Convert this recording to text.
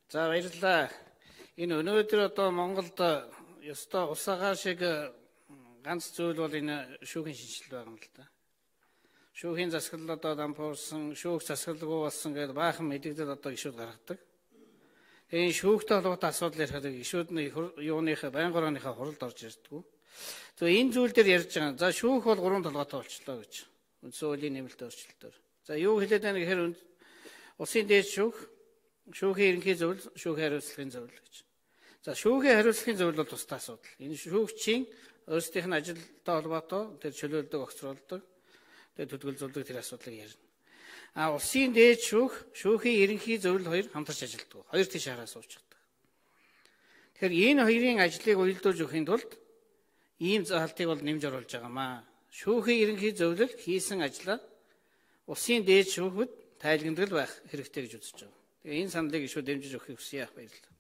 За баярлалаа. Энэ өнөөдөр одоо Монголд ёстой усагаа шиг ганц зүйл бол энэ шүүхийн шинжилэл байгаа юм л да. Шүүхийн засаглал одоо дампуурсан, шүүх засаглалгүй болсон гэдэг баахан мэдээлэл одоо гишүүд гаргадаг. Энэ шүүхтэй холбоотой асуудал ярихад гишүүд нь юуныхаа байнгын орооныхаа хуралд орж ирдэггүй. Тэгээ энэ зүйл дээр ярьж байгаа. За шүүх бол 3 толгойтой болчлоо гэж. Үндсэн хуулийн нэмэлт өөрчлөлтөөр. За юу хэлээд байна гэхээр улсын дээд шүүх, шүүхийн ерөнхий зөвлөл, шүүхийн хариуцлагын зөвлөл гэж. За шүүхийн хариуцлагын зөвлөл бол тусдаа асуудал. Энэ шүүгчийн өөрсдийнх нь ажилтай холбоотой тэр чөлөөлдөг, огцруулдаг, тэр төлөвлөдөг тэр асуудлыг ярина. Улсын дээд шүүх, шүүхийн ерөнхий зөвлөл хоёр хамтарч ажилладаг. Хоёр тийш хараа суучдаг. Тэгэхээр энэ хоёрын ажлыг уялдуулж өгөхийн тулд ийм заалтыг бол нэмж оруулж байгаамаа. Шүүхийн ерөнхий зөвлөл хийсэн ажлаа улсын дээд шүүхэд тайлгнадал байх хэрэгтэй гэж үзэж байгаа. Тэгээ энэ саналыг ишүү дэмжиж өгөхийг хүсье. Баярлалаа.